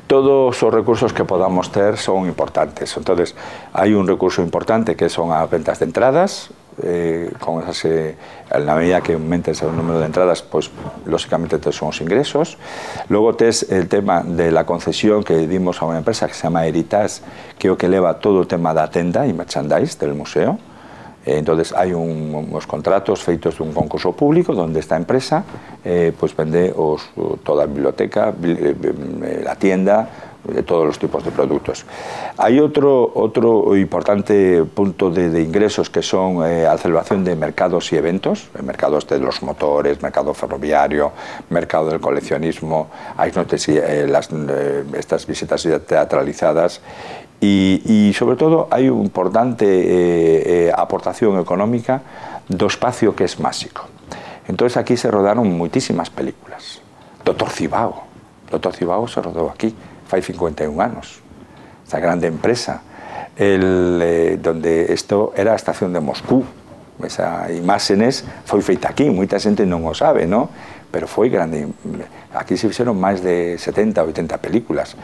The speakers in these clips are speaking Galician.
Todos os recursos que podamos ter son importantes. Entonces, hai un recurso importante que son as ventas de entradas. Con esas, na medida que aumentes o número de entradas, pues lógicamente tes son os ingresos. Logo tes el tema de la concesión que dimos a unha empresa que se chama Heritage, que é o que leva todo o tema da tenda e merchandise del museo. Entonces hai uns contratos feitos dun concurso público onde esta empresa pues vende toda a biblioteca, la tienda, de todos los tipos de productos. Hay otro importante punto de ingresos que son la celebración de mercados y eventos, mercados de los motores, mercado ferroviario, mercado del coleccionismo, hay estas visitas teatralizadas y sobre todo hay una importante aportación económica do espacio que es máxico. Entonces aquí se rodaron muchísimas películas. Doctor Cibago se rodó aquí. Fai 51 anos, esta grande empresa, donde isto era a estación de Moscú. Esa imágenes foi feita aquí, moita xente non o sabe, ¿no? Pero foi grande. Aquí se fixeron máis de 70 ou 80 películas.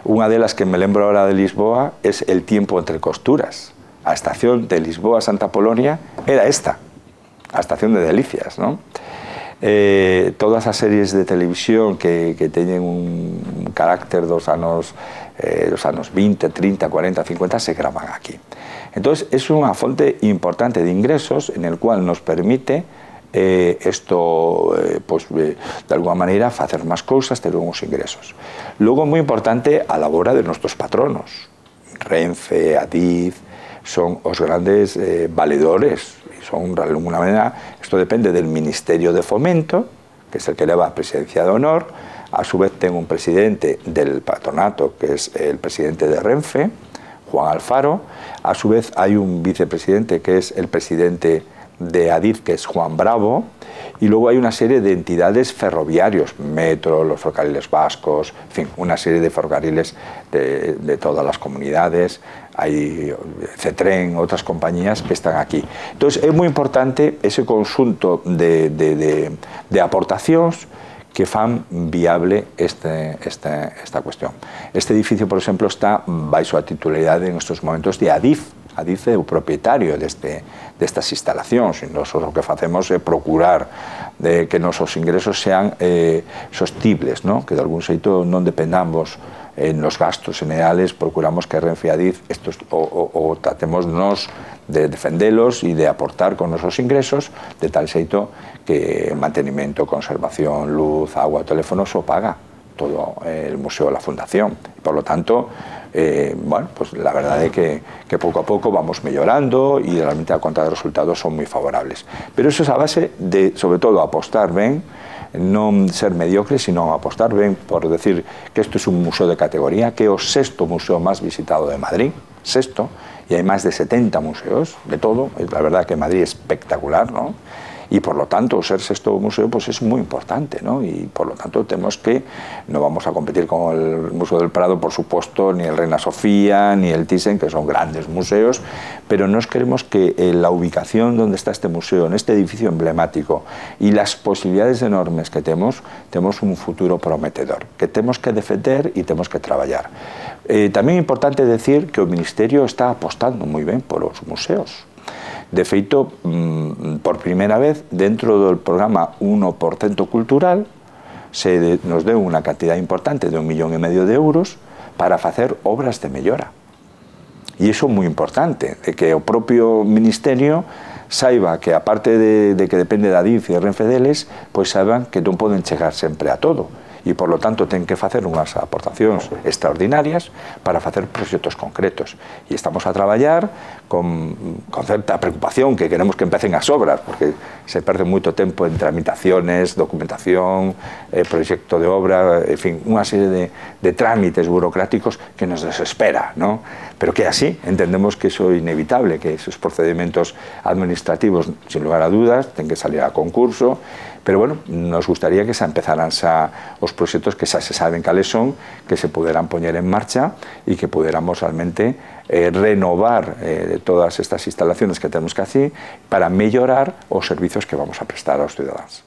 Unha delas que me lembro ahora de Lisboa es El tiempo entre costuras. A estación de Lisboa a Santa Polonia era esta, a estación de Delicias, ¿no? Todas as series de televisión que teñen un carácter dos anos 20, 30, 40, 50 se graban aquí. Entonces es unha fonte importante de ingresos en el cual nos permite esto, pues, de alguna maneira facer máis cousas, ter uns ingresos. Logo, moi importante, a labora de nuestros patronos. Renfe, Adif, son os grandes valedores. Son, de alguna manera, esto depende del Ministerio de Fomento, que es el que lleva a presidencia de honor. A su vez tengo un presidente del patronato, que es el presidente de Renfe, Juan Alfaro. A su vez hay un vicepresidente, que es el presidente de Adif, que es Juan Bravo. Y luego hay una serie de entidades ferroviarios, Metro, los ferrocarriles vascos, en fin, una serie de ferrocarriles de todas las comunidades. Hay Cetren, otras compañías que están aquí. Entonces es muy importante ese conjunto de aportacións que fan viable esta cuestión. Este edificio, por exemplo, está baixo a titularidade en estos momentos de Adif. Adif é o propietario destas instalacións, e nós o que facemos é procurar que nosos ingresos sean sostibles, ¿no? Que de algún xeito non dependamos en los gastos generales, procuramos que Renfe y Adif o tratemos de defenderlos y de aportar con nuestros ingresos de tal xeito que mantenimiento, conservación, luz, agua, teléfonos o paga todo el museo, la fundación. Por lo tanto, bueno, pues la verdad es que poco a poco vamos mejorando y realmente la cuenta de resultados son muy favorables. Pero eso es a base de, sobre todo, apostar ben, non ser mediocre, sino apostar ben por decir que isto é un museo de categoría, que é o 6º museo máis visitado de Madrid, 6º, e hai máis de 70 museos de todo. La verdad que Madrid é espectacular, ¿no? Y por lo tanto, ser 6º museo pues es muy importante, ¿no? Y por lo tanto tenemos que, no vamos a competir con el Museo del Prado, por supuesto, ni el Reina Sofía, ni el Thyssen, que son grandes museos, pero nos queremos que la ubicación donde está este museo, en este edificio emblemático, y las posibilidades enormes que tenemos un futuro prometedor, que tenemos que defender y tenemos que trabajar. También es importante decir que el Ministerio está apostando muy bien por los museos. De feito, por primera vez, dentro del programa 1% cultural, nos deu unha cantidad importante de 1,5 millón de euros para facer obras de mellora. E iso é moi importante, de que o propio Ministerio saiba que, aparte de que depende da DIF e de Renfe deles, pois saiban que non poden chegar sempre a todo. E, por lo tanto, ten que facer unhas aportacións extraordinarias para facer proxectos concretos. E estamos a traballar con certa preocupación, que queremos que empecen as obras, porque se perde moito tempo en tramitaciones, documentación, proxecto de obra, en fin, unha serie de trámites burocráticos que nos desespera, ¿no? Pero que así entendemos que iso é inevitable, que esos procedimentos administrativos, sin lugar a dudas, ten que salir a concurso. Pero bueno, nos gustaría que se empezaran os proxectos que xa se saben cales son, que se poderán poñer en marcha e que poderamos realmente renovar todas estas instalaciones que tenemos que hacer para mellorar os servicios que vamos a prestar aos ciudadanos.